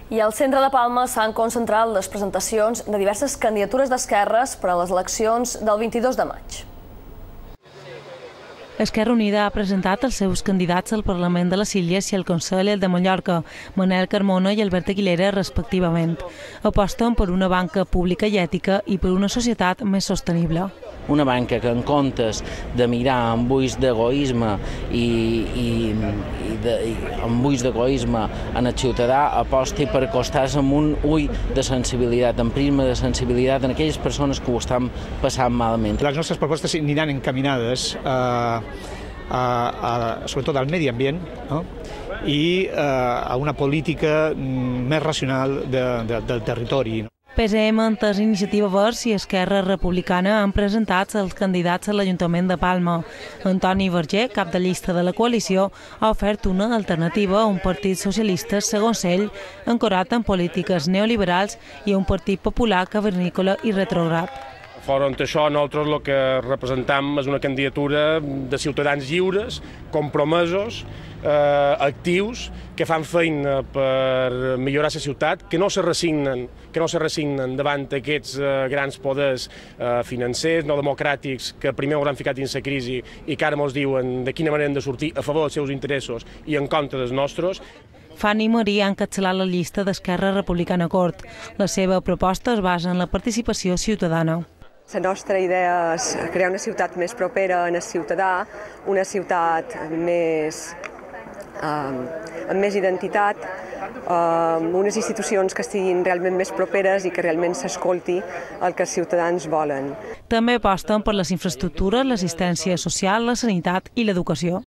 I al centre de Palma s'han concentrat les presentacions de diverses candidatures d'esquerres per a les eleccions del 22 de maig. Esquerra Unida ha presentat els seus candidats al Parlament de les Illes i al Consell de Mallorca, Manel Carmona i Albert Aguilera, respectivament. Aposten per una banca pública i ètica i per una societat més sostenible. Una banca que en comptes de mirar amb ulls d'egoisme i amb ulls d'egoisme en el ciutadà aposti per acostar-se amb un ull de sensibilitat, amb prisma de sensibilitat en aquelles persones que ho estan passant malament. Les nostres propostes aniran encaminades sobretot al medi ambient, no? I a una política més racional del territori. PSM, Entesa, Iniciativa Verds i Esquerra Republicana han presentat els candidats a l'Ajuntament de Palma. Antoni Verger, cap de llista de la coalició, ha ofert una alternativa a un partit socialista, segons ell, ancorat en polítiques neoliberals i a un partit popular cavernícola i retrograd. Fora d'això, nosaltres el que representam és una candidatura de ciutadans lliures, compromesos, actius, que fan feina per millorar la ciutat, que no se resignen davant d'aquests grans poders financers, no democràtics, que primer hauran ficat dins la crisi i que ara ens diuen de quina manera hem de sortir a favor dels seus interessos i en contra dels nostres. Fanny Maria ha encapçalat la llista d'Esquerra Republicana Cort. La seva proposta es basa en la participació ciutadana. La nostra idea és crear una ciutat més propera al ciutadà, una ciutat amb més identitat, amb unes institucions que estiguin realment més properes i que realment s'escolti el que els ciutadans volen. També aposten per les infraestructures, l'assistència social, la sanitat i l'educació.